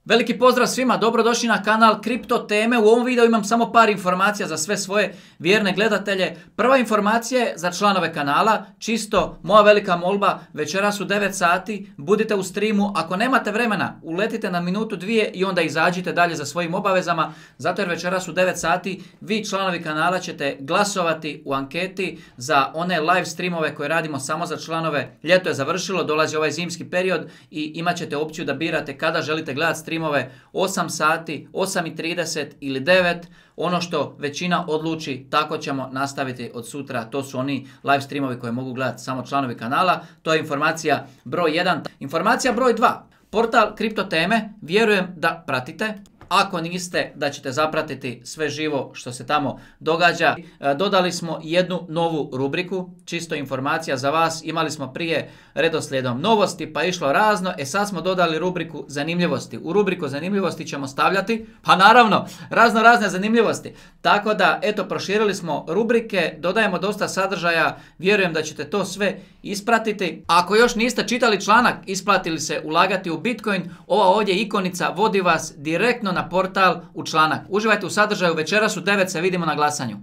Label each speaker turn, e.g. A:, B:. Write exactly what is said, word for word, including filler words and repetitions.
A: Veliki pozdrav svima, dobrodošli na kanal Kripto teme. U ovom videu imam samo par informacija za sve svoje vjerne gledatelje. Prva informacija je za članove kanala, čisto moja velika molba, večeras u devet sati, budite u streamu. Ako nemate vremena, uletite na minutu dvije i onda izađite dalje za svojim obavezama, zato jer večeras u devet sati vi članovi kanala ćete glasovati u anketi za one live streamove koje radimo samo za članove. Ljeto je završilo, dolazi ovaj zimski period i imat ćete opciju da birate kada želite gledati stream. Streamove osam sati, osam i trideset ili devet, ono što većina odluči, tako ćemo nastaviti od sutra. To su oni live streamovi koje mogu gledati samo članovi kanala. To je informacija broj jedan. Informacija broj dva. Portal Kripto teme, vjerujem da pratite. Ako niste, da ćete zapratiti sve živo što se tamo događa. Dodali smo jednu novu rubriku, čisto informacija za vas. Imali smo prije redoslijedom novosti, pa išlo razno. E sad smo dodali rubriku zanimljivosti. U rubriku zanimljivosti ćemo stavljati, pa naravno, razno razne zanimljivosti. Tako da, eto, proširili smo rubrike, dodajemo dosta sadržaja. Vjerujem da ćete to sve ispratiti. Ako još niste čitali članak Isplatili se ulagati u Bitcoin, ova ovdje ikonica vodi vas direktno na portal u članak. Uživajte u sadržaju, večeras u devet se vidimo na glasanju.